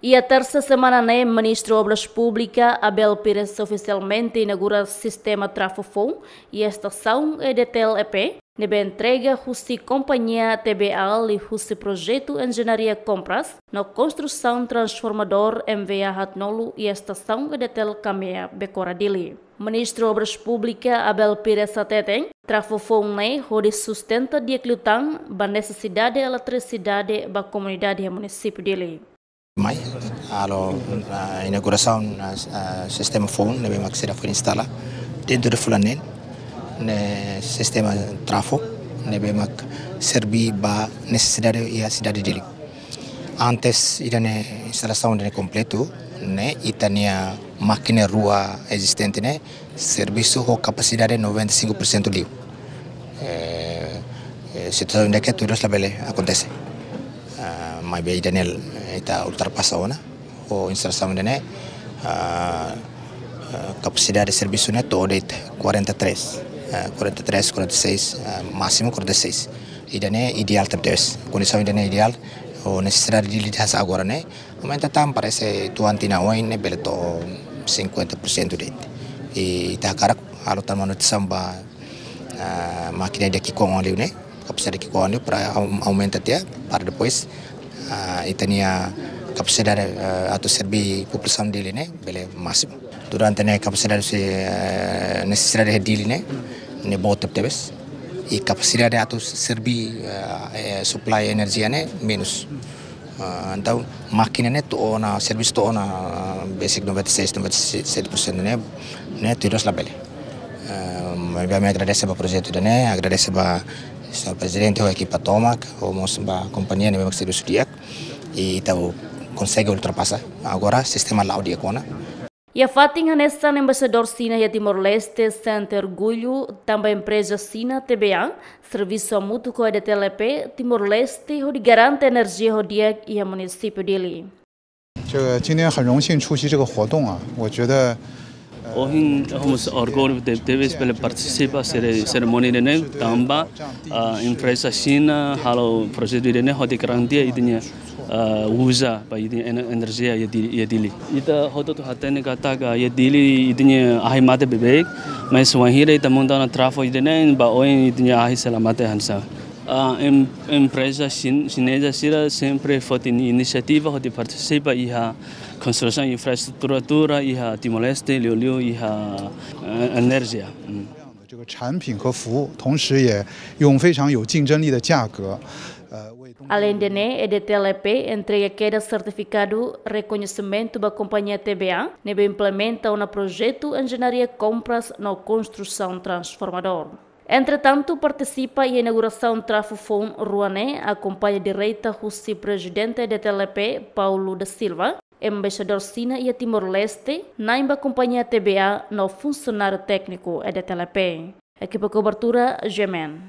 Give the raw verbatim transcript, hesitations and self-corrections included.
Iha tersa semana ne'e, Ministru Obras Públikas, Abel Pires, ofisialmente inaugura sistema trafofoun iha estasaun E D T L E P, ne'ebé entrega husi kompañia T B A liuhusi projetu enjeñaria kompras no konstrusaun transformadór M V A haatnulu iha estasaun E D T L Kamea, Becora, Dili. Ministru Obras Públikas, Abel Pires, hateten, trafofoun ne'e hodi sustenta di'ak liután ba nesesidade eletrisidade ba komunidade iha munisípiu Dili. Mai, halo, ah, inaugurasaun, ah, ah, sistema foun ne'ebé mak seidauk foin instala dentru de fulan neen, ne'e sistema trafo ne'ebé mak serve ba nesesidade iha sidade Dili. Antes ida-ne'e instalasaun ida-ne'e kompletu, ne'e ita-nia mákina rua ezistente ne'e servisu ho kapasidade noventa e cinco por cento liu. Eh, eh, situasaun ida-ne'e tuir-loos labele akontese. Ah, maibé ida-ne'e ita ultrapasa ona ho instalasaun ida-ne'e, ah, ah, kapasidade servisu ne'e to'o de'it quarenta e três, ah, quarenta e três, quarenta e seis, ah, másimu quarenta e seis. Ida-ne'e ideál tebes. Kondisaun ida-ne'e ideál, ho nesesidade Dili hanesan agora ne'e, aumenta tan, parese tuan tinan oin ne'e bele to'o cinquenta por cento de'it. I ita hakarak halo tan manutensaun ba, ah, mákina ida ki'ikoan liu ne'e, kapasidade ki'ikoan liu para au-, aumenta tiha, para depois, ah, ita-nia kapasidade, ah, atu serve populasaun Dili ne'e bele másimu. Durante ne'e kapasidade se, eh, nesesidade Dili ne'e, ne'e boot tebes. I kapasidade atu serve, eh, eh, supply enerjia ne'e menus. Ah, entaun, mákina ne'e to'o ona, servisu to'o ona, ah, basic noventa e seis, noventa e sete por cento ne'e, ne'e tuir-loos labele. Ah, maibé ami agradese ba projetu ida-ne'e, agradese ba Señór Prezidente ho ekipa tomak, ho mós ba kompañia ne'ebé mak servisu di'ak, i ita konsege ultrapasa. Agora sistema la'o di'ak ona. Iha fatin hanesan, Embaixadór Xina iha Timor-Leste sente orgullu tanba empreza Xina T B A servisu hamutuk ho E D T L E P Timor-Leste hodi garante enerjia ho di'ak iha munisípiu Dili. 这个今天很荣幸出席这个活动啊，我觉得 Ohin ha'u mós orgullu tebetebes bele partisipa sere-, serimónia ida-ne'e tanba, ah, empreza Xina halo projetu ida-ne'e hodi garantia ita-nia, ah, uza ba ita-nia en-, enerjia iha Di-, iha Dili. Ita hotu-hotu hatene katak iha Dili ita-nia ahi mate beibeik, mas wainhira ita monta ona trafo ida-ne'e ba oin ita-nia ahi sei la mate hanesan. Ah, em-, empreza xin-, xineza sira sempre foti inisiativa hodi partisipa iha konstrusaun infraestrutura iha Timor-Leste, liuliu iha, eh, enerjia. Mm. 这个产品和服务，同时也用非常有竞争力的价格，呃，为东 Aleinde ne'e, E D T L E P entrega kedas sertifikadu rekoñesimentu ba kompañia T B A ne'ebé implementa ona projetu enjeñaria kompras no konstrusaun transformadór. Entretantu, partisipa iha inaugurasaun trafofoun rua ne'e akompaña direta husi Prezidente E D T L E P, Paulo da Silva, Embaixadór Xina iha Timor-Leste, na'in ba kompañia T B A no funsionáriu tékniku E D T L E P. Ekipa kobertura, G M N.